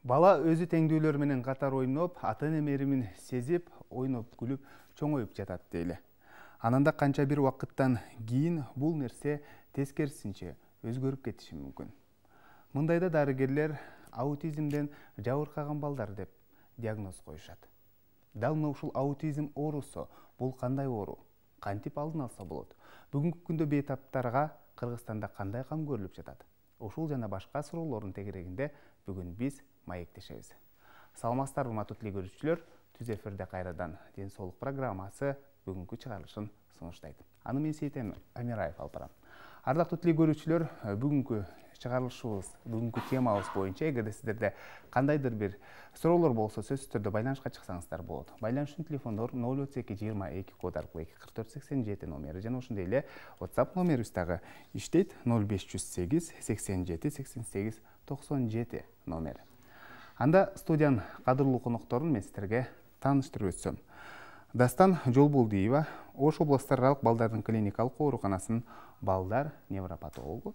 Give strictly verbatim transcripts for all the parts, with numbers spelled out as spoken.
Бала өзү теңдүүлөр менен катар ойноп, ата-эне мээримин сезип, ойноп, күлүп, чоңоюп жатат дейли. Анан да канча бир убакыттан кийин бул нерсе тескерисинче өзгөрүп кетиши мүмкүн. Мындайда дарыгерлер аутизмден жабыркаган балдар деп диагноз коюшат. Дал мына ушул аутизм оорусу бул кандай оору? Кантип алдын алса болот? Бүгүнкү күндө бейтаптарга Кыргызстанда кандай кам көрүлүп жатат? Ушул жана башка суроолордун тегерегинде бүгүн биз маектешебиз. Саламатсыздарбы, урматтуу телекөрүүчүлөр. Түз эфирде кайрадан Ден соолук программасы бүгүнкү чыгарылышын сунуштайт. Аны мен Сейтен Амираев алып барам. Ардактуу телекөрүүчүлөр, бүгүнкү чыгарылышыбыз, бүгүнкү темабыз боюнча эгерде сиздерде кандайдыр бир суроолор болсо, сөзсүз түрдө байланышка чыксаңыздар болот. Байланыш үчүн телефондор ноль отуз эки жыйырма эки код аркылуу эки кырк төрт сексен жети номери жана ошондой эле WhatsApp номерибиз дагы иштейт. ноль беш жүз сегиз сексен жети сексен сегиз токсон жети номери. Анда студиянын кадырлуу конокторун мен сиздерге тааныштырып өтсөм. Дастан Жолболдиева, Ош областаралык балдардын клиникалык ооруканасынын балдар невропатологу.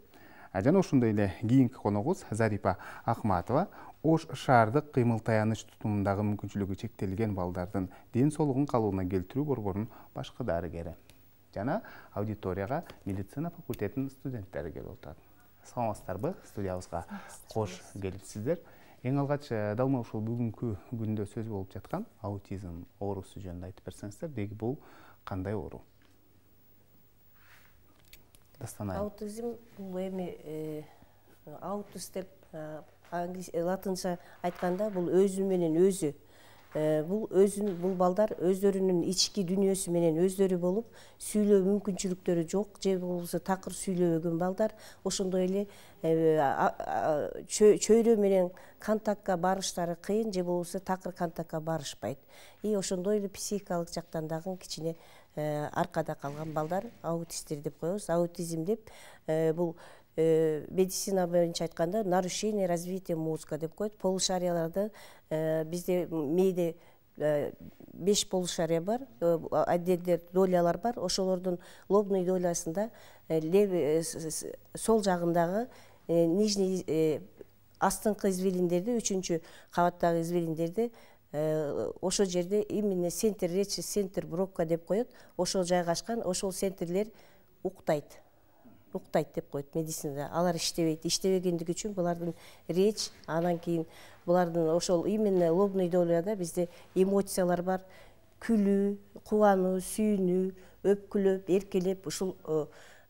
Жана ошондой эле кийинки коногубуз Зарипа Акматова, Ош шаардык кыймыл таяныч тутумундагы мүмкүнчүлүгү чектелген балдардын ден соолугун калыбына келтирүү борборунун башкы дарыгери. Жана аудиторияга медицина факультетинин студенттери келип отурат. Саламатсыздарбы? Студиябызга кош келипсиздер. Эң алгач дал мына ушул бүгүнкү күндө сөз болуп жаткан аутизм оорусу жөнүндө айтып берсеңиздер, деги бул кандай оору? Дастан айым. Аутизм бул эми аутист деп латынча айтканда бул өзү менен өзү. Бул өзүн бул балдар өздөрүнүн ички дүйнөсү менен өздөрү болуп, сүйлөө мүмкүнчүлүктөрү жок, же болбосо такыр сүйлөбөгөн балдар, ошондой эле чөйрө менен контактка барыштары кыйын, же болбосо такыр контактка барышпайт. И ошондой эле психикалык жактан дагы кичине аркада калган балдар аутисттер деп коебуз. Аутизм деп бул медицина боюнча айтканда нарушение развития мозга деп коет. Полушарияларды бизде мээде беш полушария бар, отдельдер долялар бар. Ошолордун лобный долясында сол жагындагы нижний астыңкы извилиндерди, үчүнчү кабаттагы извилиндерди ошол жерде именно центр речи, центр бровка деп коет. Ошол жайгашкан, ошол центрлер уктайт. Уктайт деп коет медицинада. Алар иштебейт. Иштебегендиги үчүн булардын речь, анан кийин булардын ошол именно лобный доляда бизде эмоциялар бар. Күлүү, кубануу, сүйүнүү, өпкүлөп, эркелеп, ушул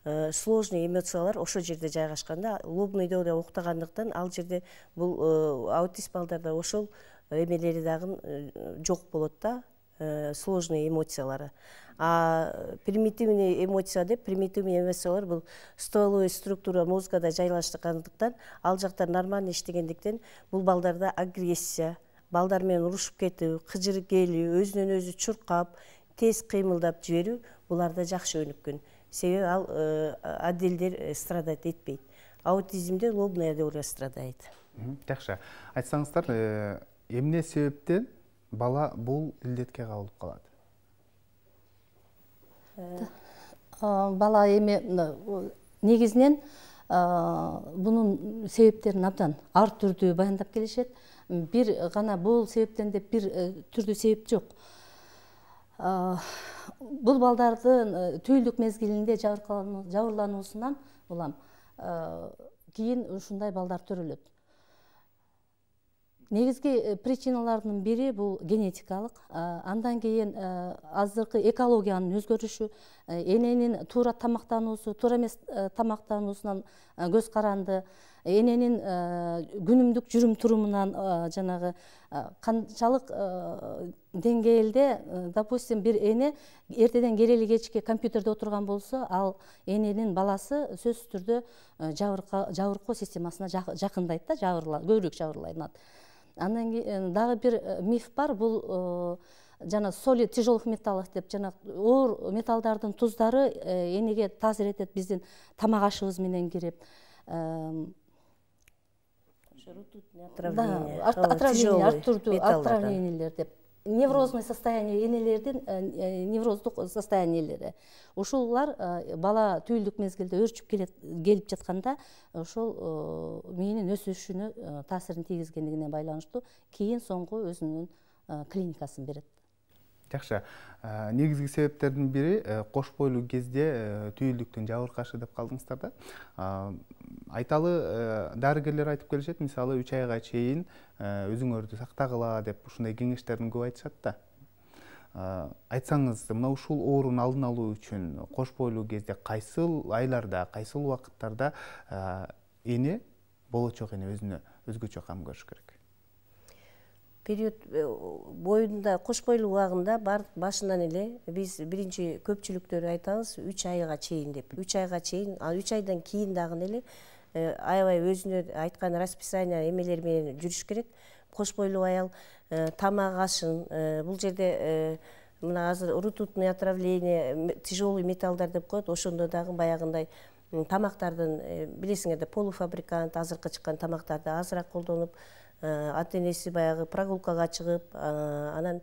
сложный эмоциялар ошол жерде жайгашканда, лобный доля уктагандыктан ал жерде бул аутист балдарда ошол эмелери дагы жок болот да, сложный эмоциялары. А примитивный эмоция деп, примитивный эмоциялар бул стволовой структура мозгада жайлашкандыктан, ал жакта нормально иштегендиктен бул балдарда агрессия, балдар менен урушуп кетүү, кыжырып келүү, өзүнөн өзү чуркап, тез кыймылдап жиберүү буларда жакшы өнүккөн. Себеби ал отдельдер страдать этпейт. Аутизмде лобная доля страдает. Жакшы. Айтсаңыздар, эмне себептен бала бул илдетке кабылып калат? Бала эми негизинен бунун себептерин абдан ар түрдүү баяндап келишет. Бир гана бул себептен деп бир түрдүү себеп жок. Бул балдардын түйүлдүк мезгилинде жабырлануусунан улам кийин ушундай балдар төрөлөт. Негизги причиналардын бири бул генетикалык, андан кийин азыркы экологиянын өзгөрүшү, эненин туура тамактануусу, туура эмес тамактануусунан көз каранды, эненин күнүмдүк жүрүм турумунан жанагы канчалык деңгээлде, допустим, бир эне эртеден келели кечке компьютерде отурган болсо, ал эненин баласы сөзсүз түрдө жабыркоо системасына жакындайт да, көбүрөөк жабырланат. Андан кийин дагы бир миф бар, бул жана соли тяжелых металлов деп, жана оор металлдардын туздары энеге таасир этет, биздин тамак ашыбыз менен кирип. Отравление, ар түрдүү отравлениелер деп неврозный состояние энелердин невроздук состояниелери. Ушулар бала түйүлдүк мезгилде өрчүп келип жатканда ошол мээнин өсүшүнө таасирин тийгизгендигине байланыштуу кийин соңку өзүнүн клиникасын берет. Жакшы. Негизги себептердин бири кош бойлуу кезде түйүлдүктүн жабыркашы деп калдыңыздар да. Айталы дарыгерлер айтып келишет, мисалы үч айга чейин өзүңөрдү сактагыла деп ушундай кеңештерин көп айтышат да. Айтсаңыз, мына ушул оорунун алдын алуу үчүн кош бойлуу кезде кайсыл айларда, кайсыл убакыттарда эне, болочок эне өзүнө өзгөчө кам көрүш керек? Период боюнда, кош бойлуу убагында башынан эле биз биринчи көпчүлүктөр айтабыз үч айга чейин деп. үч айга чейин, ал үч айдан кийин дагы эле аябай өзүнө айткан расписание эмелер менен жүрүш керек. Кош бойлуу аял тамак ашын, бул жерде мына азыр ртутный отравление, тяжелый металлдар деп коет, ошондо дагы баягындай тамактардын, билесиңер да, полуфабрикант азыркы чыккан тамактарды азыраак колдонуп, ата энеси баягы прогулкага чыгып, анан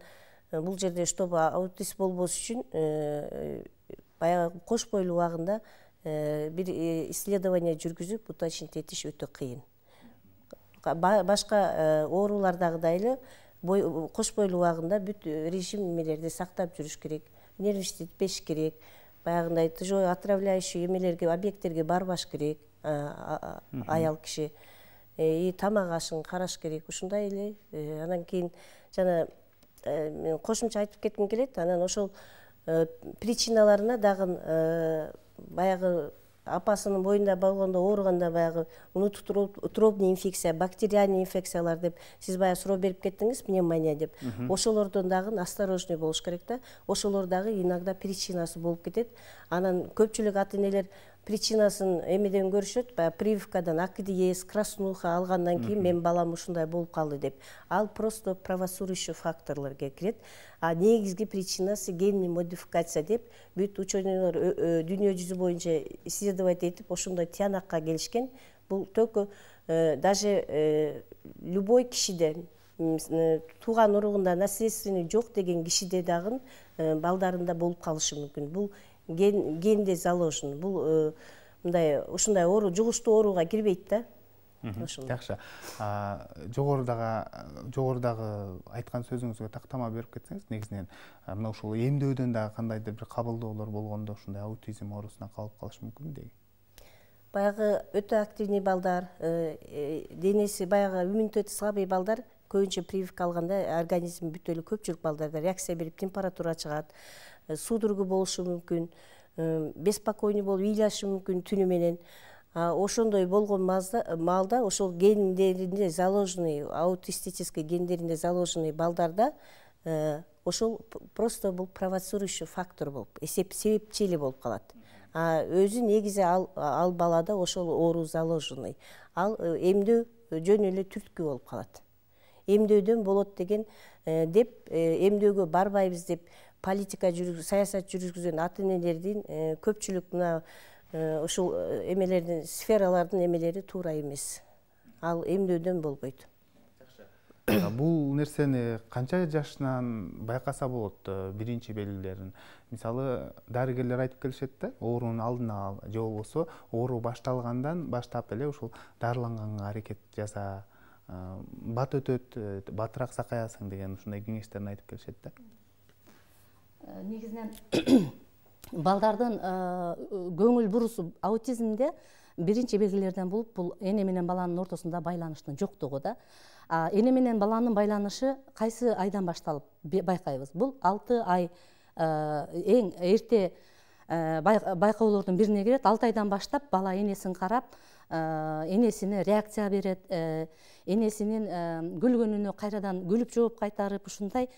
бул жерде чтобы аутист болбош үчүн баягы кош бойлуу убагында бир исследование жүргүзүп уточнить этиш өтө кыйын. Башка оорулардагыдай эле кош бойлуу убагында бүт режим эмелерди сактап жүрүш керек, нервничать керек, баягындай тяжелый отравляющий эмелерге, объекттерге барбаш керек аял киши. И тамак ашын караш керек, ушундай эле. Анан кийин жана кошумча айтып кетким келет, анан ошол причиналарына дагы баягы апасынын боюнда болгондо ооруганда баягы внутриутробный инфекция, бактериальный инфекциялар деп сиз баягы суроо берип кеттиңиз, пневмония деп. Ошолордон дагы осторожный болуш керек да. Ошолор дагы иногда причинасы болуп кетет. Анан көпчүлүк ата энелер причинасын эмеден көрүшөт, баягы прививкадан акидиез, краснуха алгандан кийин мен балам ушундай болуп калды деп. Ал просто провоцирующий факторлорго кирет. А негизги причинасы генный модификация деп бүт ученыйлар дүйнө жүзү боюнча исследовать этип ошондой тиянакка келишкен. Бул только даже любой кишиде, тууган уругунда наследственный жок деген кишиде дагы балдарында болуп калышы мүмкүн. Бул генде заложен. Бул мындай ушундай оору, жугуштуу ооруга кирбейт да. Жакшы. Жогорудагы жогорудагы айткан сөзүңүзгө тактама берип кетсеңиз, негизинен мына ушул эмдөөдөн дагы кандайдыр бир кабылдоолор болгондо ушундай аутизм оорусуна калып калыш мүмкүн деги. Баягы өтө активный балдар, денеси баягы иммунитети слабый балдар көбүнчө прививка алганда организм бүт эле көпчүлүк балдарда реакция берип температура чыгат, судорога болушу мүмкүн, беспокойный болуп ыйлашы мүмкүн түнү менен. Ошондой болгон маалда ошол гендеринде заложенный, аутистический гендеринде заложенный балдарда ошол просто бул провоцирующий фактор болуп, себепчи эле болуп калат. А өзү негизи ал ал балада ошол оору заложенный. Ал эмдөө жөн эле түрткү болуп калат. Эмдөөдөн болот деген деп эмдөөгө барбайбыз деп политика жүрүп, саясат жүргүзгөн ата энелердин көпчүлүк мына ушул эмелердин, сфералардын эмелери туура эмес. Ал эмдөөдөн болбойт. Бул нерсени канча жашынан байкаса болот биринчи белгилерин? Мисалы, дарыгерлер айтып келишет да, оорунун алдын ал, же болбосо оору башталгандан баштап эле ушул дарыланганга аракет жаса, бат өтөт, батыраак сакаясың деген ушундай кеңештерин айтып келишет да. Негизинен балдардын көңүл бурусу аутизмде биринчи белгилерден болуп, бул эне менен баланын ортосунда байланыштын жоктугу да. Эне менен баланын байланышы кайсы айдан башталып байкайбыз? Бул алты ай эң эрте байкоолордун бирине кирет. алты айдан баштап бала энесин карап, энесине реакция берет, энесинин күлгөнүнө кайрадан күлүп жооп кайтарып, ушундай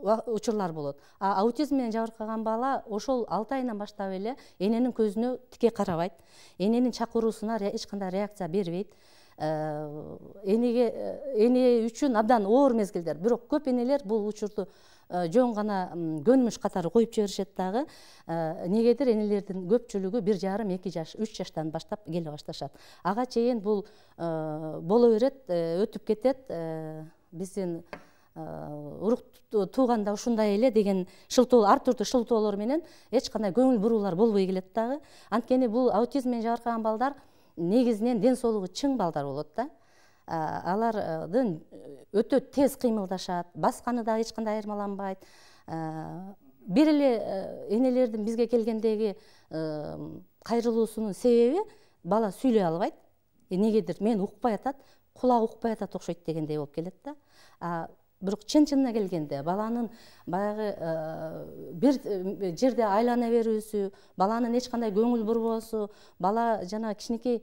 учурлар болот. А аутизм менен жабыркаган бала ошол алты айынан баштап эле эненин көзүнө тике карабайт, эненин чакыруусуна эч кандай реакция бербейт. Энеге эне үчүн абдан оор мезгилдер. Бирок көп энелер бул учурду жөн гана көнмүш катары коюп жиберишет дагы. Негедир энелердин көпчүлүгү бир жарым эки жаш, үч жаштан баштап келе башташат. Ага чейин бул боло берет, өтүп кетет. Биздин урук тууганда ушундай эле деген шылтоо, ар түрдүү шылтоолор менен эч кандай көңүл буруулар болбой келет дагы. Анткени бул аутизм менен жабыркаган балдар негизинен ден соолугу чың балдар болот да. Алардын өтө тез кыймылдашат, басканы дагы эч кандай айырмаланбайт. Бир эле энелердин бизге келгендеги кайрылуусунун себеби бала сүйлөй албайт. Негедир мен укпай атат, кулагы укпай атат окшойт дегендей болуп келет да. Бирок чын-чынына келгенде баланын баягы бир жерде айлана берүүсү, баланын эч кандай көңүл бурбоосу, бала жана кичинекей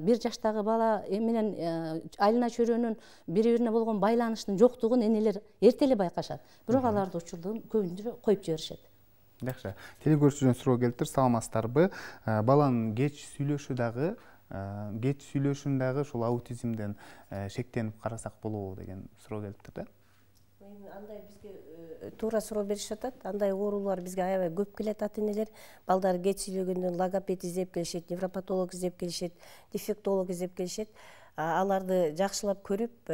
бир жаштагы бала менен айлана чөйрөнүн бири-бирине болгон байланыштын жоктугун энелер эрте эле байкашат. Бирок аларды учурдун көбүнчө коюп жиберишет. Жакшы. Телекөрүүчүдөн суроо келиптир, саламатсыздарбы? Баланын кеч сүйлөшү дагы кеч сүйлөшүн дагы ушул аутизмден шектенип карасак болобу деген суроо келиптир да. Андай бизге туура суроо беришип атат. Андай оорулар бизге аябай көп келет, ата-энелер. Балдар кеч сүйлөгөндөн логопед издеп келишет, невропатолог издеп келишет, дефектолог издеп келишет. Аларды жакшылап көрүп,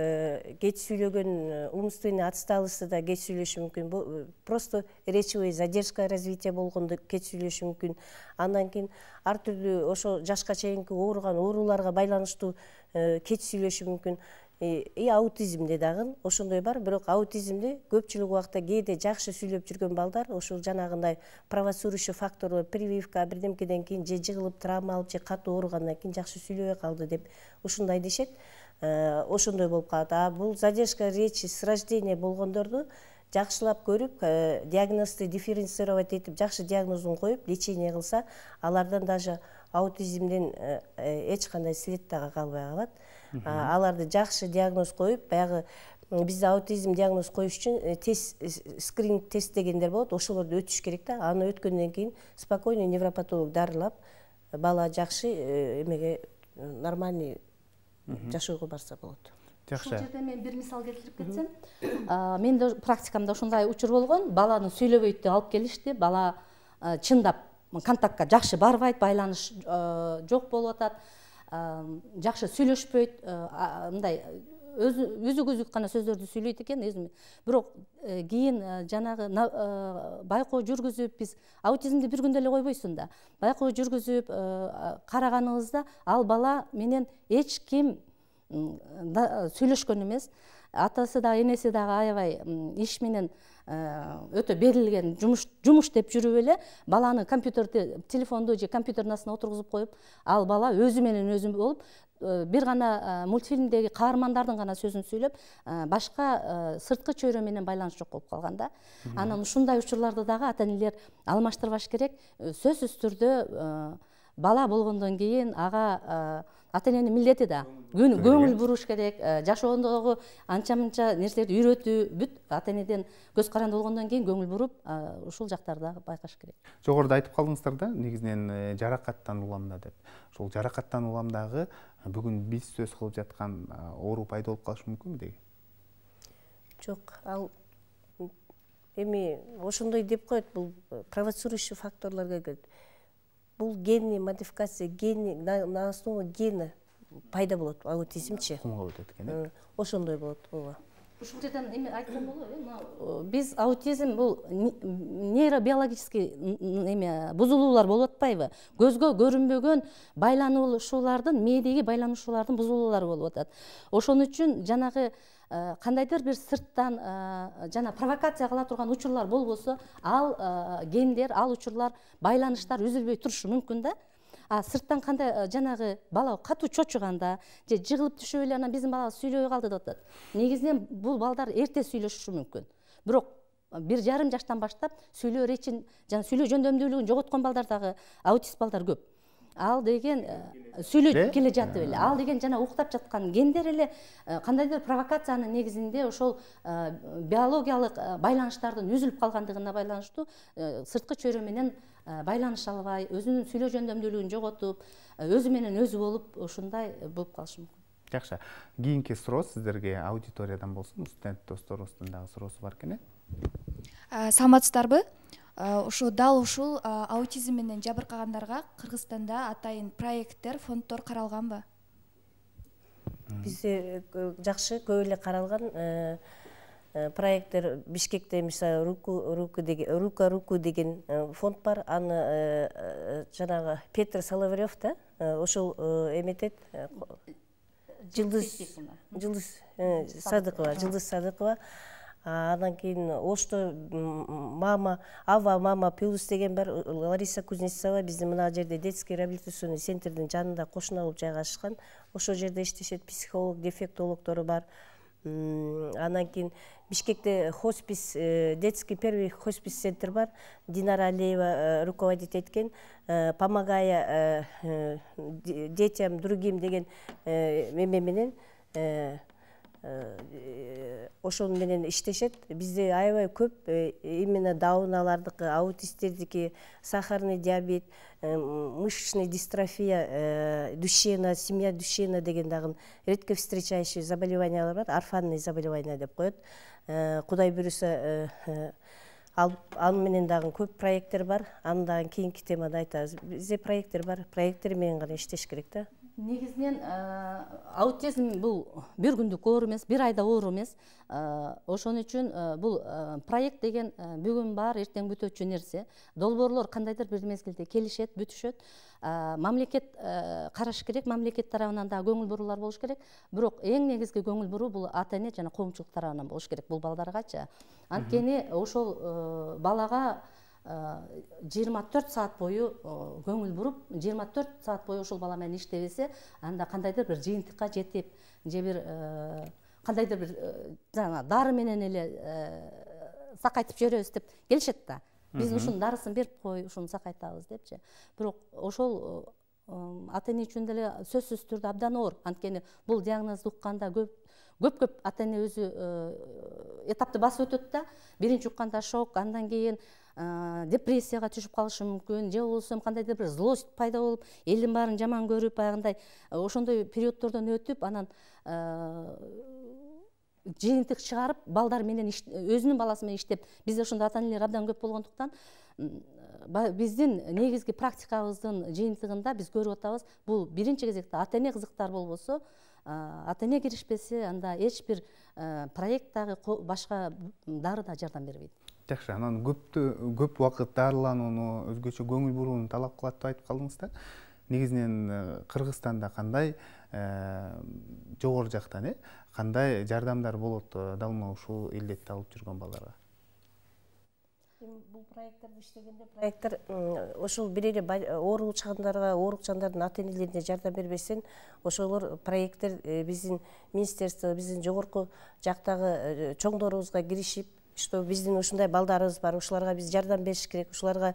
кеч сүйлөгөн умственный отсталости да кеч сүйлөшү мүмкүн. Просто речевой задержка развития болгондо кеч сүйлөшү мүмкүн. Андан кийин ар түрдүү ошо жашка чейинки ооруган ооруларга байланыштуу кеч сүйлөшү мүмкүн. И аутизмде дагы ошондой бар, бирок аутизмде көпчүлүк убакта кээде жакшы сүйлөп жүргөн балдар ошол жанагындай провоцирующий фактор, прививка бирдемкеден кийин же жыгылып травма алып же катуу ооругандан кийин жакшы сүйлөбөй калды деп ушундай дешет. Ошондой болуп калат. А бул задержка речи с рождения болгондорду жакшылап көрүп, диагнозду дифференцировать этип, жакшы диагнозун коюп, лечение кылса, алардан даже аутизмден эч кандай след дагы калбай калат. Аларды жакшы диагноз коюп, баягы бизде аутизм диагноз коюш үчүн тест, скрининг тест дегендер болот, ошолорду өтүш керек да. Аны өткөндөн кийин спокойно невропатолог дарылап, бала жакшы эмеге нормальный жашоого барса болот. Ушул жерде мен бир мисал келтирип кетсем, мен да практикамда ушундай учур болгон. Баланы сүйлөбөйт деп алып келишти. Бала чындап контактка жакшы барбайт, байланыш жок болуп атат. Жакшы сүйлөшпөйт, мындай үзүк үзүк гана сөздөрдү сүйлөйт экен өзүм. Бирок кийин жанагы байкоо жүргүзүп, биз аутизмди бир күндө эле койбойсуң да. Байкоо жүргүзүп караганыбызда ал бала менен эч ким сүйлөшкөн эмес. Атасы да, энеси дагы аябай иш менен өтө берилген жумуш жумуш деп жүрүп эле баланы компьютерди, телефонду же компьютердин астына отургузуп коюп, ал бала өзү менен өзү болуп, бир гана мультфильмдеги каармандардын гана сөзүн сүйлөп, башка сырткы чөйрө менен байланыш жок болуп калган да. Анан ушундай учурларды дагы ата-энелер алмаштырбаш керек. Сөзсүз түрдө бала болгондон кийин ага ата-эненин милдети да көңүл буруш керек, жашоодогу анча-мынча нерселерди үйрөтүү, бүт ата-энеден көз каранды болгондон кийин көңүл буруп, ушул жактарды байкаш керек. Жогоруда айтып калдыңыздар да, негизинен жаракаттан уламда деп. Ошол жаракаттан уламдагы бүгүн биз сөз кылып жаткан оору пайда болуп калышы мүмкүнбү деги? Жок, ал эми ошондой деп коет, бул провоцирующий факторлорго кирет. Бул генный модификация, генный на основе гена пайда болот аутизмчи. Кумга өтөт экен. Ошондой болот, ооба. Ушул жерден эме айтсам болобу? Биз аутизм бул нейробиологический эме бузулуулар болуп атпайбы? Көзгө көрүнбөгөн байланышуулардын, мээдеги байланышуулардын бузулуулары болуп атат. Ошон үчүн жанагы кандайдыр бир сырттан жана провокация кыла турган учурлар болбосо, ал гендер, ал учурлар, байланыштар үзүлбөй турушу мүмкүн да. А сырттан кандай жанагы бала катуу чочуганда же жыгылып түшүп эле анан биздин бала сүйлөбөй калды деп атат. Негизинен бул балдар эрте сүйлөшүшү мүмкүн. Бирок бир жарым жаштан баштап сүйлөө речин жана сүйлөө жөндөмдүүлүгүн жоготкон балдар дагы аутист балдар көп. Ал деген сүйлөп келе жатып эле, ал деген жана уктап жаткан гендер эле кандайдыр провокациянын негизинде ошол биологиялык байланыштардын үзүлүп калгандыгына байланыштуу сырткы чөйрө менен байланыша албай, өзүнүн сүйлөө жөндөмдүүлүгүн жоготуп, өзү менен өзү болуп, ушундай болуп калышы мүмкүн. Жакшы. Кийинки суроо сиздерге аудиториядан болсун, студент досторубуздун дагы суроосу бар экен. Саламатсыздарбы? Ошо дал ушул аутизм менен жабыркагандарга Кыргызстанда атайын проекттер, фонддор каралганбы? Бизде жакшы, көп эле каралган. проекттер Бишкекте мисалы руку руку деген рука руку деген фонд бар. Аны жанагы Петр Соловьев да ошол эметет. Жылдыз Жылдыз Садыкова, Жылдыз Садыкова. Андан кийин Ошто мама, Ава мама плюс деген бар. Лариса Кузнецова биздин мына жерде детский реабилитационный центрдин жанында кошуна болуп жайгашкан. Ошол жерде иштешет, психолог, дефектологдору бар. Андан кийин Бишкекте хоспис, детский первый хоспис центр бар. Динара Алиева руководить эткен. Помогая детям другим деген эме менен ошол менен иштешет. Бизде аябай көп именно даунalардыкы, аутисттердики, сахарный диабет, мышечная дистрофия, Дюшена, семья Дюшена деген дагы редко встречающие заболеваниялар бар, орфанный заболевания деп коет. Кудай буюрса ал менен дагы көп проекттер бар. Андан кийинки темада айтабыз. Бизде проекттер бар, проекттер менен гана иштеш керек да. Негизинен аутизм бул бир күндүк оору эмес, бир айда оору эмес. Ошон үчүн бул проект деген бүгүн бар, эртең бүтөчү нерсе. Долбоорлор кандайдыр бир мезгилде келишет, бүтүшөт. Мамлекет караш керек, мамлекет тарабынан да көңүл буруулар болуш керек. Бирок эң негизги көңүл буруу бул ата-эне жана коомчулук тарабынан болуш керек бул балдаргачы. Анткени ошол балага жыйырма төрт саат бою көңүл буруп, жыйырма төрт саат бою ошол бала менен иштебесе, анда кандайдыр бир жыйынтыкка жетип, же бир кандайдыр бир жана дары менен эле сакайтып жиберебиз деп келишет да. Биз ушунун дарысын берип кой, ушуну сакайтабыз депчи. Бирок ошол ата-эне үчүн деле сөзсүз түрдө абдан оор. Анткени бул диагнозду укканда көп көп-көп ата-эне өзү этапты басып өтөт да. Биринчи укканда шок, андан кийин депрессияга түшүп калышы мүмкүн, же болбосо кандайдыр бир злость пайда болуп, элдин баарын жаман көрүп, баягындай ошондой периоддордон өтүп, анан жыйынтык чыгарып, балдар менен өзүнүн баласы менен иштеп, бизде ошондой ата-энелер абдан көп болгондуктан, биздин негизги практикабыздын жыйынтыгында биз көрүп атабыз, бул биринчи кезекте ата-эне кызыктар болбосо, ата-эне киришпесе, анда эч бир проект дагы башка дары да жардам бербейт. Жакшы, анан көп убакыт дарыланууну, өзгөчө көңүл бурууну талап кылат деп айтып калдыңыз да. Негизинен Кыргызстанда кандай жогору жактан кандай жардамдар болот далма ушул илдетти алып жүргөн балдарга? Бул проекттер иштегенде проекттер ошол бир эле ооручандарга, оорукчандардын ата-энелерине жардам бербесен, ошолор проекттер биздин министерство, биздин жогорку жактагы чоңдорубузга киришип, что биздин ушундай балдарыбыз бар, ушуларга биз жардам бериш керек, ушуларга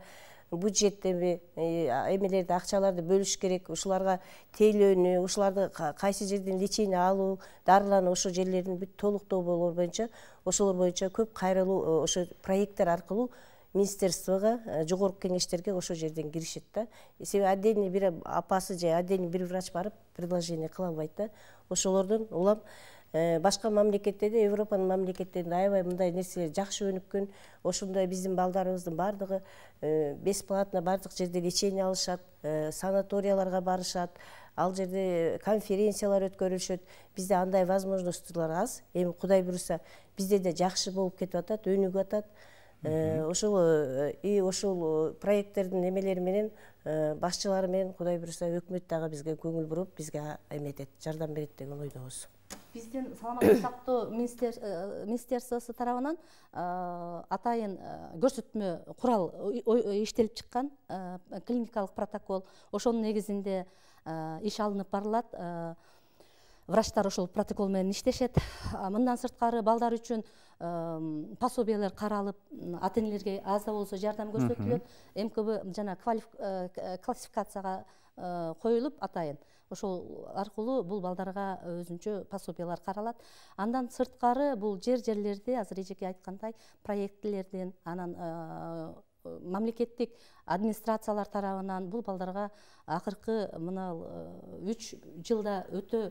бюджеттеби эмелерди, акчаларды бөлүш керек, ушуларга тейлөөнү, ушуларды кайсы жерден лечение алуу, дарылануу, ошол жерлерин бүт толуктоо болор боюнча, ошолор боюнча көп кайрылуу ошо проекттер аркылуу министерствого, жогорку кеңештерге ошол жерден киришет да. Себеби отдельный бир апасы же отдельный бир врач барып предложение кыла албайт да. Ошолордон улам башка мамлекеттерде, Европанын мамлекеттеринде аябай мындай нерселер жакшы өнүккөн. Ошондой биздин балдарыбыздын бардыгы бесплатно бардык жерде лечение алышат, санаторияларга барышат, ал жерде конференциялар өткөрүлүшөт. Бизде андай возможностьтар аз. Эми Кудай буйруса, бизде да жакшы болуп кетип атат, өнүгүп атат. Ошол и ошол проекттердин эмелери менен, башчылары менен Кудай буйруса өкмөт дагы бизге көңүл буруп, бизге эметет, жардам берет деген ойдобуз. Биздин саламаттык сактоо министерствосу тарабынан атайын көрсөтмө курал иштелип чыккан, клиникалык протокол. Ошонун негизинде иш алынып барылат. Врачтар ошол протокол менен иштешет. Мындан сырткары балдар үчүн пособиялар каралып, ата-энелерге аз да болсо жардам көрсөтүлөт. МКБ жана классификацияга коюлуп атайын. Ошол аркылуу бул балдарга өзүнчө пособиялар каралат. Андан сырткары бул жер-жерлерде азыр эжеке айткандай проектлерден, анан мамлекеттик администрациялар тарабынан бул балдарга акыркы мына үч жылда өтө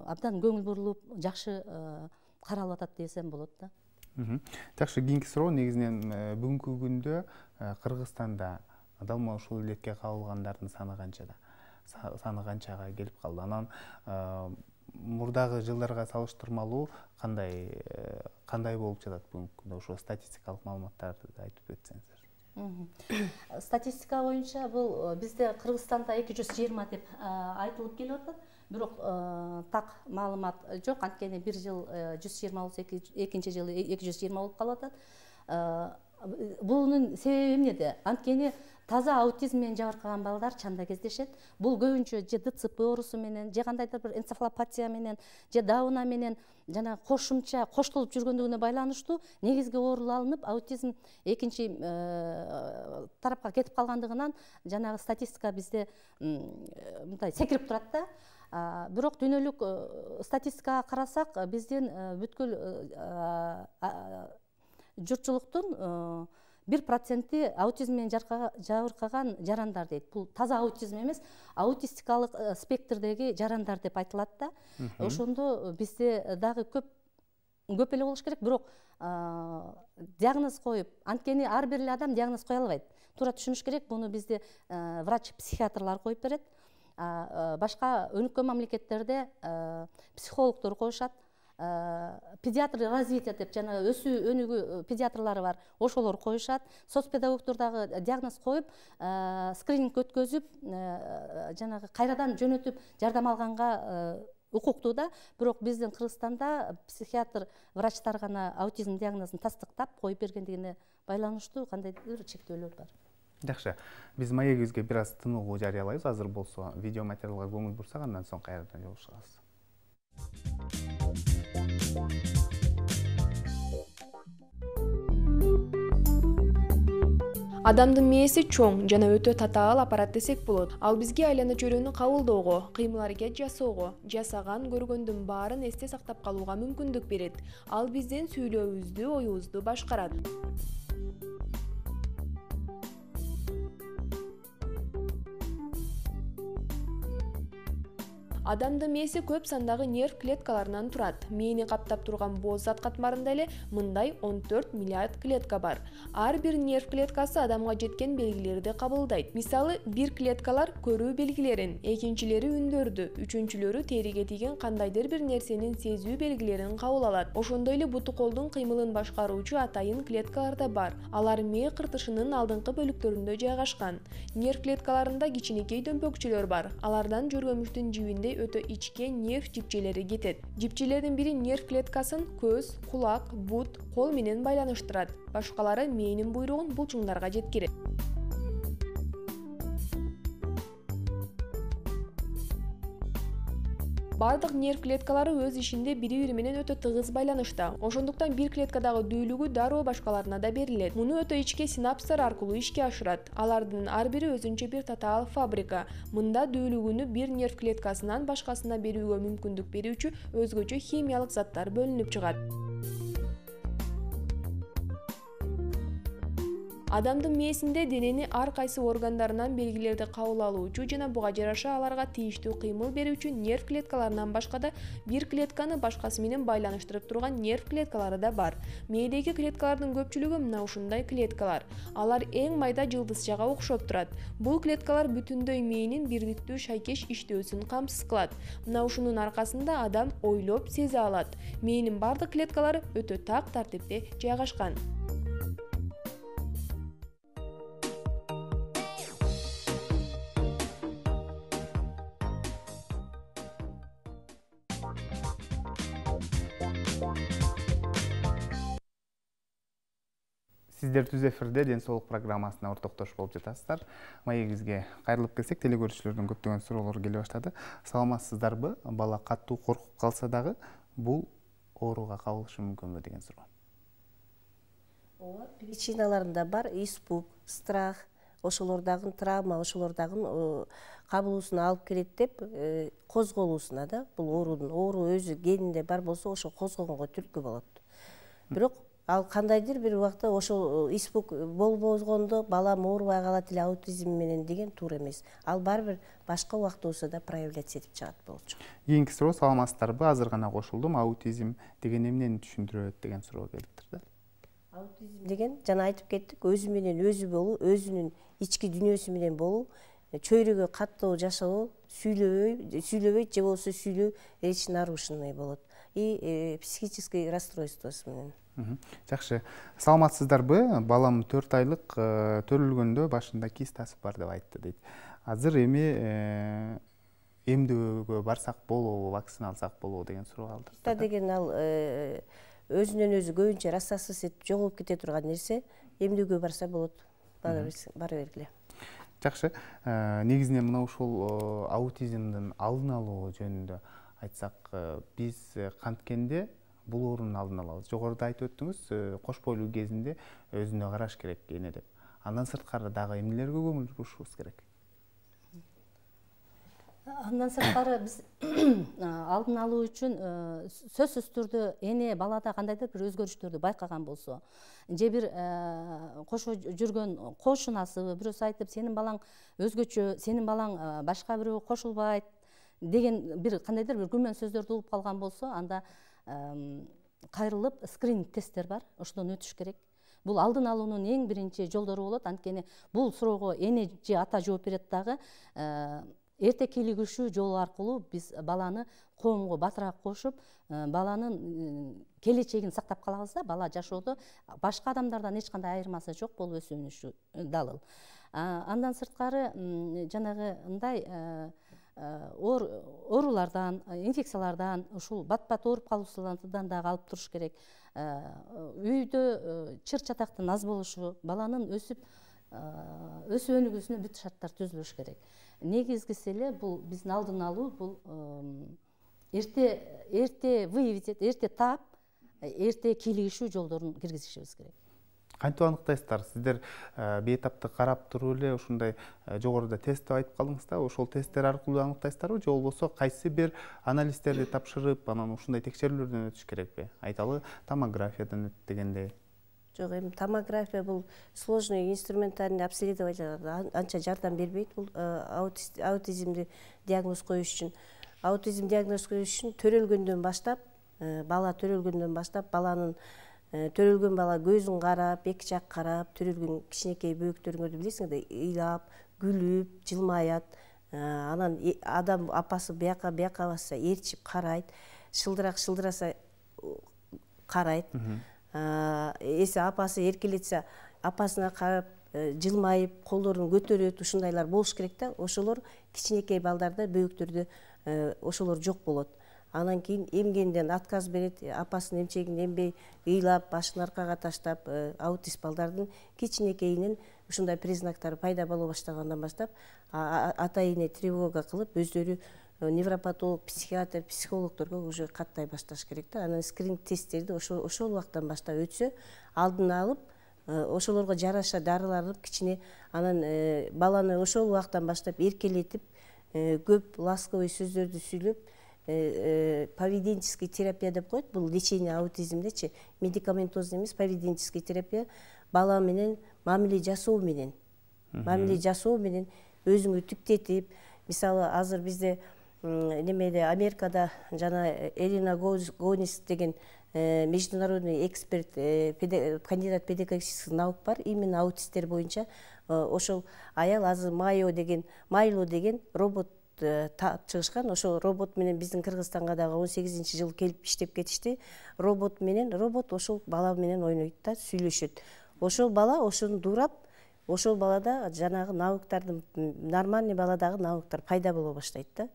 абдан көңүл бурулуп, жакшы каралып атат десем болот да. Жакшы, кийинки суроо негизинен бүгүнкү күндө Кыргызстанда далма ушул илетке кабылгандардын саны канчада? Саны канчага келип калды? Анан мурдагы жылдарга салыштырмалуу кандай кандай болуп жатат бүгүнкү күндө? Ошо статистикалык маалыматтарды айтып өтсөңүздөр. Статистика боюнча бул бизде Кыргызстанда эки жүз жыйырма деп айтылып келип атат. Бирок так маалымат жок. Анткени бир жыл жүз жыйырма болсо, экинчи жылы эки жүз жыйырма болуп калып атат. Бунун себеби эмнеде? Анткени таза аутизм менен жабыркаган балдар чанда кездешет. Бул көбүнчө же ДЦП оорусу менен, же кандайдыр бир энцефалопатия менен, же дауна менен жана кошумча коштолуп жүргөндүгүнө байланыштуу негизги оорулуу алынып, аутизм экинчи тарапка кетип калгандыгынан жанагы статистика бизде мындай секирип турат да. Бирок дүйнөлүк статистикага карасак, биздин бүткүл журтчулуктун бир проценти аутизм менен жабыркаган жарандар дейт. Бул таза аутизм эмес, аутистикалык спектрдеги жарандар деп айтылат да. Ошондо бизде дагы көп көп эле болуш керек, бирок диагноз коюп, анткени ар бир эле адам диагноз кое албайт. Туура түшүнүш керек, буну бизде врач-психиатрлар коюп берет. Башка өнүккөн мамлекеттерде психологдор коюшат. Педиатр развития деп жана өсүү өнүгүү педиатрлары бар, ошолор коюшат. Соцпедагогдор дагы диагноз коюп, скрининг өткөзүп, жанагы кайрадан жөнөтүп жардам алганга укуктуу да. Бирок биздин Кыргызстанда психиатр врачтар гана аутизм диагнозун тастыктап коюп бергендигине байланыштуу кандайдыр чектөөлөр бар. Жакшы, биз маегибизге бир аз тыныгуу жарыялайбыз. Азыр болсо видео материалга көңүл бурсак, андан соң кайрадан жолугушабыз. Адамдын мээси чоң жана өтө татаал аппарат десек болот. Ал бизге айлана чөйрөнү кабылдоого, кыймыл-аракет жасоого, жасаган, көргөндүн баарын эсте сактап калууга мүмкүндүк берет. Ал биздин сүйлөөбүздү, оюбузду башкарат. Адамдын мээси көп сандагы нерв клеткаларынан турат. Мээни каптап турган боз зат катмарында эле мындай он төрт миллиард клетка бар. Ар бир нерв клеткасы адамга жеткен белгилерди кабылдайт. Мисалы, бир клеткалар көрүү белгилерин, экинчилери үндөрдү, үчүнчүлөрү териге тийген кандайдыр бир нерсенин сезүү белгилерин кабыл алат. Ошондой эле буту колдун кыймылын башкаруучу атайын клеткалар да бар. Алар мээ кыртышынын алдыңкы бөлүктөрүндө жайгашкан. Нерв клеткаларында кичинекей дөмпөкчөлөр бар. Алардан жөргөмүштүн жибиндей өтө ичке нерв жипчелери кетет. Жипчелердин бири нерв клеткасын көз, кулак, бут, кол менен байланыштырат. Башкалары мээнин буйругун булчуңдарга жеткирет. Бардык нерв клеткалары өз ишинде бири-бири менен өтө тыгыз байланышта. Ошондуктан бир клеткадагы дүүлүгү дароо башкаларына да берилет. Муну өтө ичке синапстар аркылуу ишке ашырат. Алардын ар бири өзүнчө бир татаал фабрика. Мында дүүлүгүнү бир нерв клеткасынан башкасына берүүгө мүмкүндүк берүүчү өзгөчө химиялык заттар бөлүнүп чыгат. Адамдын мээсинде денени ар кайсы органдарынан белгилерди кабыл алуучу жана буга жараша аларга тийиштүү кыймыл берүүчү нерв клеткаларынан башка да бир клетканы башкасы менен байланыштырып турган нерв клеткалары да бар. Мээдеги клеткалардын көпчүлүгү мына ушундай клеткалар. Алар эң майда жылдызчага окшоп турат. Бул клеткалар бүтүндөй мээнин бирдиктүү шайкеш иштөөсүн камсыз кылат. Мына ушунун аркасында адам ойлоп сезе алат. Мээнин бардык клеткалары өтө так тартипте жайгашкан. Сиздер түз эфирде Ден соолук программасына ортоктош болуп жатасыздар. Маегибизге кайрылып келсек, телекөрүүчүлөрдөн көптөгөн суроолор келе баштады. Саламатсыздарбы? Бала катуу коркуп калса дагы бул ооруга кабылышы мүмкүнбү деген суроо. Ооба, причиналарында бар испуг, страх, ошолордагы травма, ошолордагы кабылуусуна алып келет деп козголуусуна да, бул оорунун оору өзү генинде бар болсо, ошо козгогонго түрткү болот. Бирок ал кандайдыр бир убакта ошол испуг болбогондо балам оорубай калат эле аутизм менен деген туура эмес. Ал барбир башка убакта болсо да проявляться этип чыгат болчу. Кийинки суроо, саламатсыздарбы? Азыр гана кошулдум. Аутизм деген эмнени түшүндүрөт деген суроо келиптир да. Аутизм деген жана айтып кеттик, өзү менен өзү болуу, өзүнүн ички дүйнөсү менен болуу, чөйрөгө каттоо жашоо, сүйлөбөй сүйлөбөйт же болбосо сүйлөө речь нарушенный болот и психический расстройствосу менен. Жакшы. Саламатсыздарбы? Балам төрт айлык төрөлгөндө башында кистасы бар деп айтты дейт. Азыр эми эмдөөгө барсак болобу, вакцина алсак болобу деген суроо алды. Та деген ал өзүнөн өзү көбүнчө рассасыз этип жоголуп кете турган нерсе, эмдөөгө барса болот. Бара бергиле. Жакшы. Негизинен мына ушул аутизмдин алдын алуу жөнүндө айтсак, биз канткенде бул оорунун алдын алабыз. Жогоруда айтып өттүңүз, кош бойлуу кезинде өзүнө караш керек эне деп. Андан сырткары дагы эмнелерге көңүл бурушубуз керек? Андан сырткары биз алдын алуу үчүн сөзсүз түрдө эне балада кандайдыр бир өзгөрүштөрдү байкаган болсо, же бир кошо жүргөн кошунасыбы, бирөөсү айтып, сенин балаң өзгөчө, сенин балаң башка бирөө кошулбайт деген бир кандайдыр бир күмөн сөздөрдү угуп калган болсо, анда кайрылып скрининг тесттер бар, ошодон өтүш керек. Бул алдын алуунун эң биринчи жолдору болот. Анткени бул суроого эне же ата жооп берет дагы. Эрте кийлигишүү жолу аркылуу биз баланы коомго батыраак кошуп, баланын келечегин сактап калабыз да, бала жашоодо башка адамдардан эч кандай айырмасы жок болуп өсүнүшү далыл. Андан сырткары жанагындай оорулардан, инфекциялардан, ушул бат-бат ооруп калуусудан дагы алып туруш керек. Үйдө чыр чатактын аз болушу, баланын өсүп өсүп өнүгүүсүнө бүт шарттар түзүлүш керек. Негизгиси эле бул биздин алдын алуу, бул эрте эрте выявить, эрте таап, эрте кийлигишүү жолдорун киргизишибиз керек. Кантип аныктайсыздар? Сиздер бейтапты карап туруп эле ушундай жогоруда тест деп айтып калдыңыз да, ошол тесттер аркылуу аныктайсыздарбы, же болбосо кайсы бир анализдерди тапшырып, анан ушундай текшерүүлөрдөн өтүш керекпи? Айталы, томографиядан өт дегендей. Жок, эми томография бул сложный инструментальный обследование анча жардам бербейт бул аутизмди диагноз коюш үчүн. Аутизм диагноз коюш үчүн төрөлгөндөн баштап, бала төрөлгөндөн баштап баланын төрөлгөн бала көзүн карап, эки жак карап, төрөлгөн кичинекей бөөктөрүңөрдү билесиңер да, ыйлап, күлүп, жылмаят. Анан адам апасы бияка бияка басса ээрчип карайт, шылдырак шылдыраса карайт. Эси апасы эркелетсе, апасына карап жылмайып, колдорун көтөрөт, ушундайлар болуш керек да. Ошолор кичинекей балдарда бөөктөрдө ошолор жок болот. Анан кийин эмгенден отказ берет, апасынын эмчегин эмбей, ыйлап, башын аркага таштап, аутист балдардын кичинекейинен ушундай признактары пайда боло баштагандан баштап, ата эне тревога кылып, өздөрү невропатолог, психиатр, психологдорго уже каттай башташ керек да. Анан скрининг тесттерди ошол ошол убактан баштап өтсө, алдын алып, ошолорго жараша дарылар алып, кичине анан баланы ошол убактан баштап эркелетип, көп ласковый сөздөрдү сүйлөп, поведенческий терапия деп коет. Бул лечение аутизмдечи, медикаментозный эмес, поведенческий терапия бала менен мамиле жасоо менен, мамиле жасоо менен өзүңү тиктетип, мисалы азыр бизде немеде Америкада жана Элина Гонис деген международный эксперт, кандидат педагогических наук бар, именно аутисттер боюнча. Ошол аял азыр Майо деген, Майло деген робот таап чыгышкан. Ошол робот менен биздин Кыргызстанга дагы он сегизинчи жылы келип иштеп кетишти. Робот менен робот ошол бала менен ойнойт да, сүйлөшөт. Ошол бала ошону дуурап, ошол балада жанагы навыктардын, нормальный баладагы навыктар пайда боло баштайт да.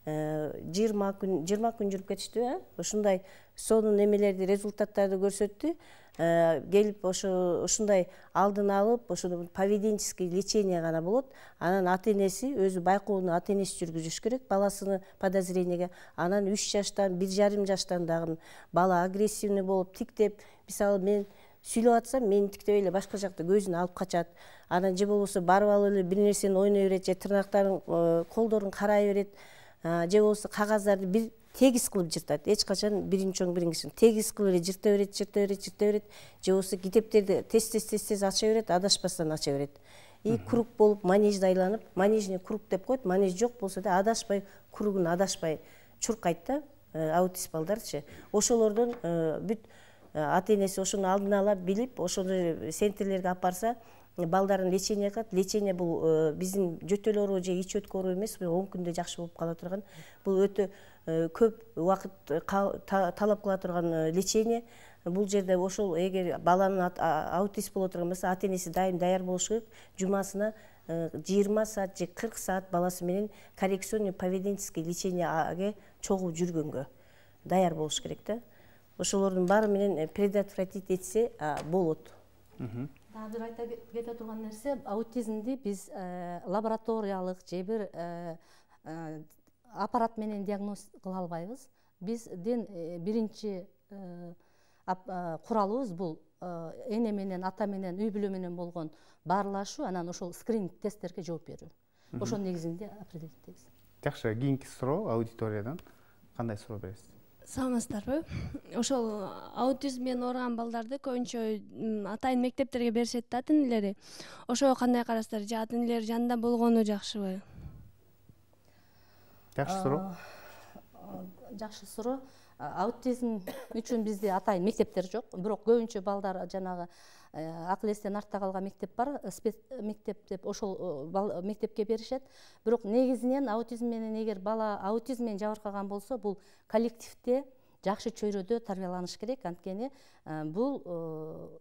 жыйырма күн жүрүп кетишти, ушундай сонун эмелерди, результаттарды көрсөттү. Келип ошо ушундай алдын алып, ошо поведенческий лечение гана болот. Анан ата-энеси өзү байкоону ата-энеси жүргүзүш керек баласыны подозрениеге. Анан үч жаштан, бир жарым жаштан дагы бала агрессивный болуп, тиктеп, мисалы мен сүйлөп атсам, мени тиктебей эле башка жакта көзүн алып качат. Анан же болбосо барып алып эле бир нерсени ойной берет, же тырнактарын, колдорун карай берет, же болбосо кагаздарды бир тегиз кылып жыртат. Эч качан биринчи оң биринчи тегиз кылып эле жырта берет, жырта берет, жырта берет. Же болбосо китептерди тез-тез-тез ача берет, адашпастан ача берет. И круг болуп манежди айланып, манежный круг деп коет. Манеж жок болсо да адашпай, кругун адашпай чуркайт да, аутист балдарчы. Ошолордон бүт ата-энеси ошону алдын ала билип, ошону центрлерге алып барса, балдарын лечение кылат. Лечение бул биздин жөтөл оору же ич өткө оору эмес, он күндө жакшы болуп кала турган. Бул өтө көп убакыт талап кыла турган лечение. Бул жерде ошол эгер баланын аутист боло турган болсо, ата-энеси дайым даяр болуш керек. Жумасына жыйырма саат же кырк саат баласы менен коррекционный поведенческий лечениеге чогуу жүргөнгө даяр болуш керек да. Ошолордун баары менен предотвратить этсе болот. Дагы бир айта кете турган нерсе, аутизмди биз лабораториялык же бир аппарат менен диагноз кыла албайбыз. Биздин биринчи куралыбыз бул эне менен, ата менен, үй бүлө менен болгон баарлашуу, анан ошол скрининг тесттерге жооп берүү. Ошол негизинде определиттейбиз. Жакшы, кийинки суроо аудиториядан кандай суроо бересиз? Саламатсыздарбы? Ошол аутизм менен ооруган балдарды көбүнчө атайын мектептерге беришет да ата-энелери. Ошого кандай карайсыздар? Же ата-энелер жанында болгону жакшыбы? Жакшы суроо. Жакшы суроо. Аутизм үчүн бизде атайын мектептер жок, бирок көбүнчө балдар жанагы акыл эстен артта калган мектеп бар, спец мектеп деп ошол мектепке беришет. Бирок негизинен аутизм менен эгер бала аутизм менен жабыркаган болсо, бул коллективде жакшы чөйрөдө тарбияланыш керек. Анткени бул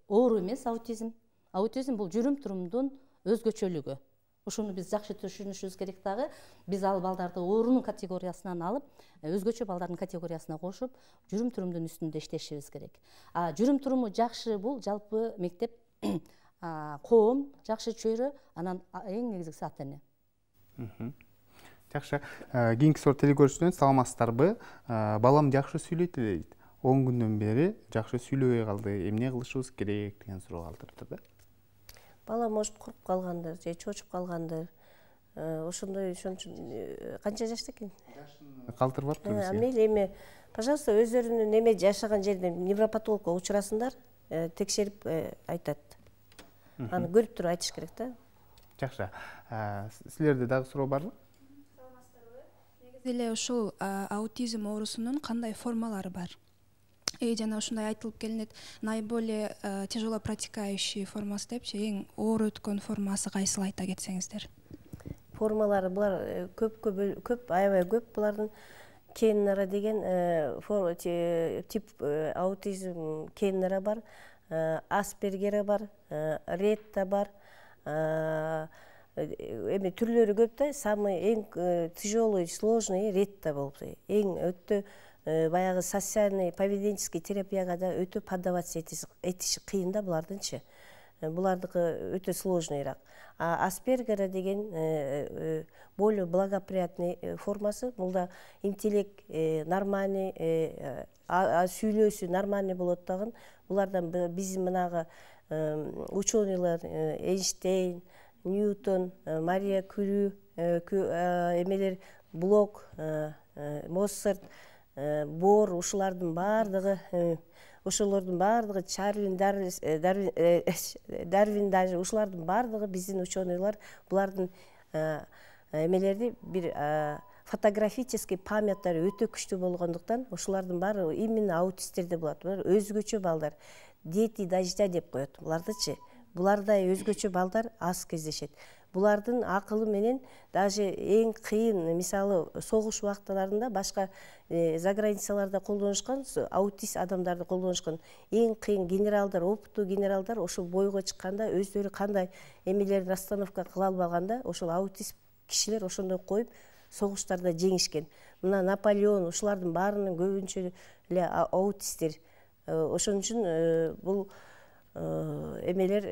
оору эмес аутизм. Аутизм бул жүрүм-турумдун өзгөчөлүгү. Ушуну биз жакшы түшүнүшүбүз керек дагы. Биз ал балдарды оорунун категориясынан алып, өзгөчө балдардын категориясына кошуп, жүрүм-турумдун үстүндө иштешибиз керек. А жүрүм-туруму жакшы бул жалпы мектеп, коом, жакшы чөйрө, анан эң негизгиси ата-эне. Жакшы. Кийинки суроо телекөрүүчүдөн саламатсыздарбы? Балам жакшы сүйлөйт эле дейт. он күндөн бери жакшы сүйлөбөй калды. Эмне кылышыбыз керек деген суроо калтырыптыр да. Бала может куруп калгандыр же чочуп калгандыр. Ошондой ошон үчүн канча жашта экен? Жашын калтырып атпайбыз. Мейли эми, пожалуйста, өздөрүнүн эме жашаган жерде невропатологко учурасыңдар, текшерип айтат. Аны көрүп туруп айтыш керек да. Жакшы. Силерде дагы суроо барбы? Саламатсыздарбы? Негизи эле ушул аутизм оорусунун кандай формалары бар? И жана ушундай айтылып келинет, наиболее тяжело протекающий формасы депчи, эң оор өткөн формасы кайсыл айта кетсеңиздер? Формалары булар көп көп көп аябай көп. Булардын Кеннера деген тип аутизм Кеннера бар, Аспергера бар, Ретта бар. Эми түрлөрү көп да, самый эң тяжелый, сложный Ретта болуп, эң өтө баягы социальный поведенческий терапияга да өтө поддаваться этиши кыйын да булардынчы. Булардыкы өтө сложныйраак. А Аспергера деген более благоприятный формасы. Булда интеллект нормальный, сүйлөөсү нормальный болот дагы. Булардан биздин мынагы ученыйлар Эйнштейн, Ньютон, Мария Кюри, эмелер Блок, Моцарт, Бор, ушулардын баардыгы, ошолордун баардыгы Чарлин, Дарвин даже ушулардын баардыгы биздин ученыйлар булардын эмелерди бир фотографический памяттары өтө күчтүү болгондуктан ошолардын баары именно аутисттерде болот. Булар өзгөчө балдар, дети дождя деп коет булардычы. Булардай өзгөчө балдар аз кездешет. Булардын акылы менен даже эң кыйын, мисалы, согуш убактыларында башка заграницаларда колдонушкан аутист адамдарды колдонушкан эң кыйын генералдар, опыттуу генералдар ошол бойго чыкканда өздөрү кандай эмелерди расстановка кыла албаганда ошол аутист кишилер ошондой коюп согуштарда жеңишкен. Мына Наполеон ушулардын баарынын көбүнчө эле аутисттер. Ошон үчүн бул эмелер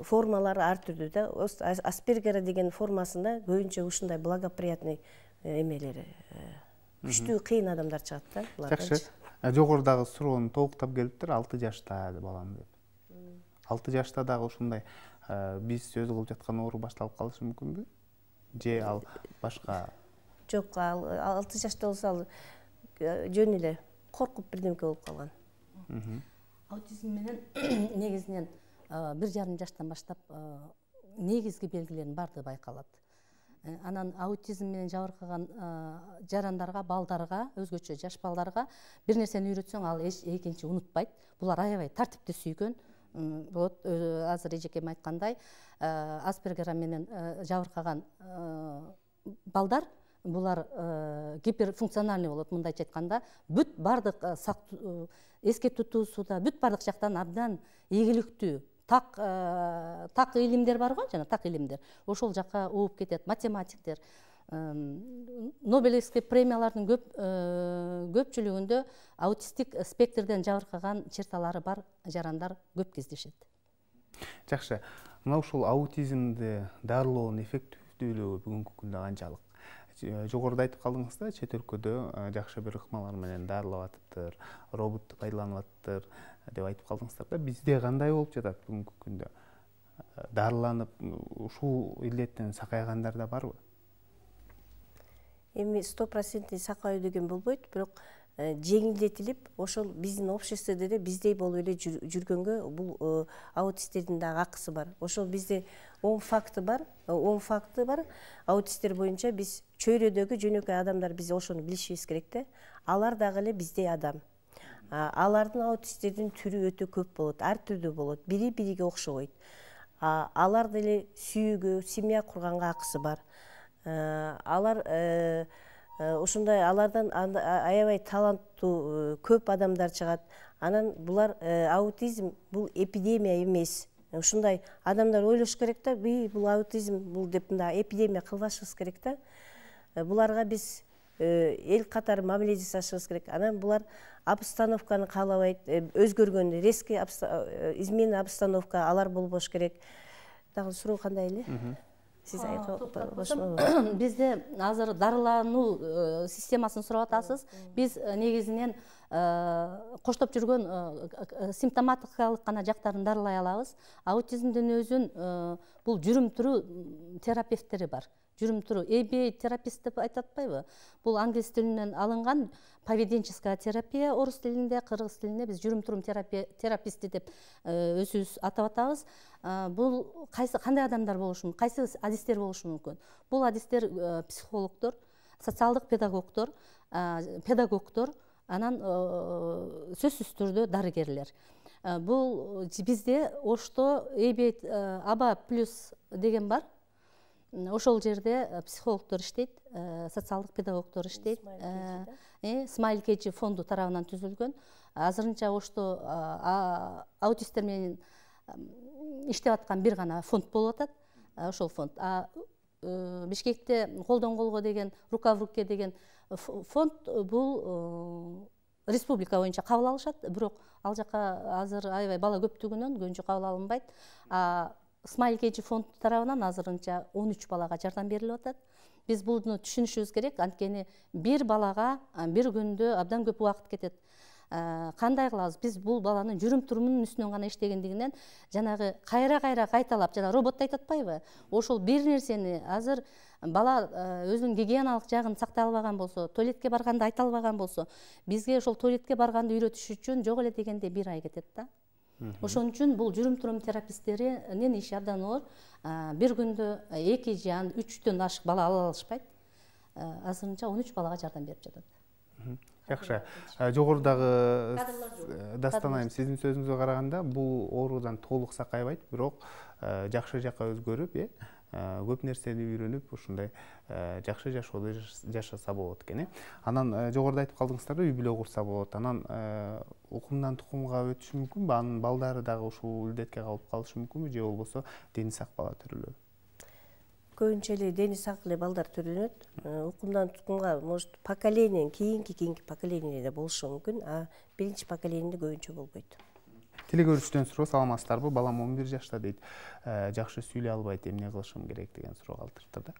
формалары ар түрдүү да. Аспергера деген формасында көбүнчө ушундай благоприятный эмелери күчтүү кыйын адамдар чыгат да. Жакшы. Жогорудагы суроону толуктап келиптир, алты жашта балам деп. алты жашта дагы ушундай биз сөз кылып жаткан оору башталып калышы мүмкүнбү? Же ал башка? Жок, алты жашта болсо ал жөн эле коркуп бирдемке болуп калган. Аутизм менен негизинен бир жарым жаштан баштап негизги белгилердин баардыгы байкалат. Анан аутизм менен жабыркаган жарандарга, балдарга, өзгөчө жаш балдарга бир нерсени үйрөтсөң, ал экинчи унутпайт. Булар аябай тартипти сүйгөн, болот. Азыр эжекем айткандай, Аспергер менен жабыркаган балдар булар гиперфункциональный болот. Мындайча айтканда, бүт бардык эске тутуусуда, бүт бардык жактан абдан ийгиликтүү так так илимдер бар го, жана так илимдер. Ошол жакка ууп кетет. Математиктер, Нобелевский премиялардын көп көпчүлүгүндө аутистик спектрден жабыркаган черталары бар жарандар көп кездешет. Жакшы. Мына ушул аутизмди дарылоонун эффективдүүлүгү бүгүнкү күндө канчалык? Жогоруда айтып калдыңыз да, чет өлкөдө жакшы бир ыкмалар менен дарылап атыптыр, роботту пайдаланып атыптыр деп айтып калдыңыздар да. Бизде кандай болуп жатат бүгүнкү күндө? Дарыланып, ушул илдеттен сакайгандар да барбы? Эми сто процентный сакауу деген болбойт, бирок жеңилдетилип, ошол биздин обществодо эле биздей болуп эле жүргөнгө бул аутисттердин дагы акысы бар. Ошол бизде он факты бар, он факты бар. Аутисттер боюнча биз чөйрөдөгү жөнөкөй адамдар, биз ошону билишибиз керек да. Алар дагы эле биздей адам. Алардын аутисттердин түрү өтө көп болот, ар түрдүү болот, бири бириге окшобойт. Алар деле сүйүүгө, семья курганга акысы бар. Алар ошондой алардан аябай таланттуу көп адамдар чыгат. Анан булар аутизм бул эпидемия эмес. Ушундай адамдар ойлош керек да, бул аутизм бул деп мындай эпидемия кылбашыбыз керек да. Буларга биз эл катары мамиле жасашыбыз керек. Анан булар обстановканы каалабайт, өзгөргөн резкий измена обстановка алар болбош керек. Дагы суроо кандай эле? Сиз айтып бизде азыр дарылануу системасын сурап атасыз. Биз негизинен коштоп жүргөн симптоматикалык гана жактарын дарылай алабыз. Аутизмдин өзүн бул жүрүм туруу терапевттери бар. Жүрүм туруу эй би эй терапист деп айтып атпайбы? Бул англис тилинен алынган поведенческая терапия, орус тилинде, кыргыз тилинде биз жүрүм турум тераписти деп өзүбүз атап атабыз. Бул кайсы кандай адамдар болушу мүмкүн, кайсы адистер болушу мүмкүн? Бул адистер психологдор, социалдык педагогдор, педагогдор, анан сөзсүз түрдө дарыгерлер. Бул бизде Ошто эй би эй аба плюс деген бар. Ошол жерде психологдор иштейт, социалдык педагогдор иштейт. Смайл Кечи фонду тарабынан түзүлгөн. Азырынча Ошто аутисттер менен иштеп аткан бир гана фонд болуп атат. Ошол фонд. Бишкекте колдон колго деген, рука в руке деген фонд бул республика боюнча кабыл алышат, бирок ал жака азыр аябай бала көптүгүнөн көбүнчө кабыл алынбайт. Смайл Кечи фонд тарабынан азырынча он үч балага жардам берилип атат. Биз буну түшүнүшүбүз керек, анткени бир балага бир күндө абдан көп убакыт кетет. Кандай кылабыз? Биз бул баланын жүрүм турумунун үстүнөн гана иштегендигинен жанагы кайра-кайра кайталап, жана робот айтып атпайбы? Ошол бир нерсени азыр бала өзүнүн гигиеналык жагын сактай албаган болсо, туалетке барганда айта албаган болсо, бизге ошол туалетке барганды үйрөтүш үчүн жок эле дегенде бир ай кетет да. Ошон үчүн бул жүрүм турум тераписттеринин иши абдан оор. Бир күндө эки же үчтөн ашык бала ала алышпайт. Азырынча он үч балага жардам берип жатат. Жакшы. Жогорудагы Дастан айым, сиздин сөзүңүзгө караганда бул оорудан толук сакайбайт, бирок жакшы жакка өзгөрүп, э, көп нерсени үйрөнүп, ушундай жакшы жашоодо жашаса болот экен, э. Анан жогоруда айтып калдыңыздар да, үй бүлө курса болот. Анан укумдан тукумга өтүшү мүмкүнбү? Анын балдары дагы ушул илдетке калып калышы мүмкүнбү, же болбосо дени сак бала төрөлөбү? Көбүнчө эле дени сак эле балдар төрөлөт. Укумдан тукумга может поколенияден кийинки кийинки поколениеде болушу мүмкүн, а биринчи поколениеде көбүнчө болбойт. Теле көрүүчүдөн суроо, саламатсыздарбы? Балам он бир жашта дейт. Жакшы сүйлөй албайт, эмне кылышым керек деген суроо калтырыптыр да.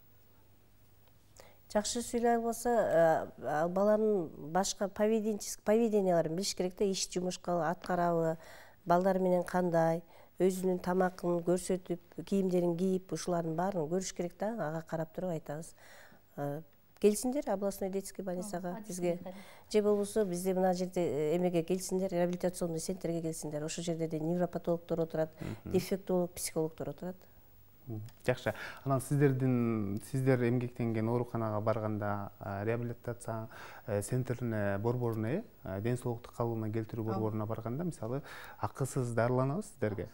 Жакшы сүйлөй албаса, баланын башка поведенческий поведенияларын билиш керек да, иш жумушка аткарабы, балдар менен кандай, өзүнүн тамакын көрсөтүп, кийимдерин кийип, ушулардын баарын көрүш керек да, ага карап туруп айтабыз. Келсиндер областной детский больницага бизге, же болбосо бизде мына жерде эмеге келсиндер, реабилитационный центрге келсиндер. Ошол жерде де невропатологдор отурат, дефектолог, психологдор отурат. Жакшы. Анан сиздердин сиздер эмгектенген ооруканага барганда реабилитация центрине борборуна, ден соолукту калыбына келтирүү борборуна барганда мисалы акысыз дарыланабыз сиздерге?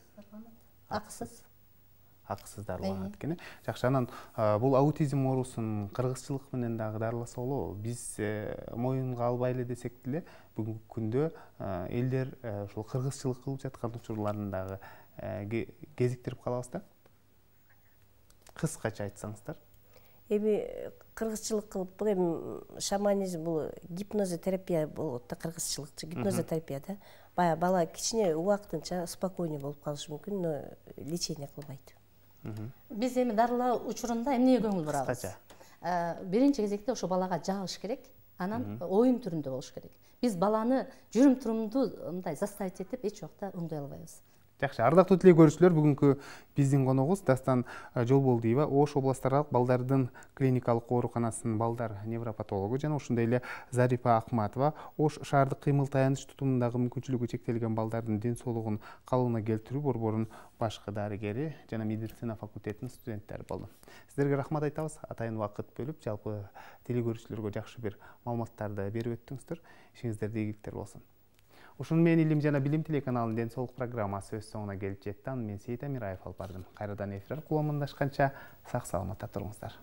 Акысыз. Акысыз дарыланат экен. Жакшы. Анан бул аутизм оорусун кыргызчылык менен дагы дарыласа болобу? Биз моюнга албай эле десек деле бүгүнкү күндө элдер ушул кыргызчылык кылып жаткан учурларын дагы кезиктирип калабыз да. Кыскача айтсаңыздар. Эми кыргызчылык кылып бул эми шаманизм, бул гипнозотерапия болот да, кыргызчылыкчы гипнозотерапия да. Бая бала кичине убактынча спокойный болуп калышы мүмкүн, но лечение кылбайт. Биз эми дарылоо учурунда эмнеге көңүл бурабыз? Кыскача. Биринчи кезекте ошо балага жагыш керек, анан оюн түрүндө болуш керек. Биз баланы жүрүм турумду мындай заставить этип эч убакта уңдай албайбыз. Жакшы, ардактуу теле көрүүчүлөр, бүгүнкү биздин коногубуз Дастан Жолболдиева, Ош областаралык балдардын клиникалык ооруканасынын балдар невропатологу жана ошондой эле Зарипа Акматова, Ош шаардык кыймыл таяныч тутумундагы мүмкүнчүлүгү чектелген балдардын ден соолугун калыбына келтирүү борборунун башкы дарыгери жана медицина факультетинин студенттери болду. Сиздерге рахмат айтабыз. Атайын убакыт бөлүп, жалпы теле көрүүчүлөргө жакшы бир маалыматтарды берип өттүңүздөр. Ишиңиздерде ийгиликтер болсун. Ушуну менен Илим жана билим телеканалынын ден соолук программасы өз соңуна келип жетти. Мен Сейит Амираев алып бардым. Кайрадан эфир аркылуу амандашканча сак саламатта туруңуздар.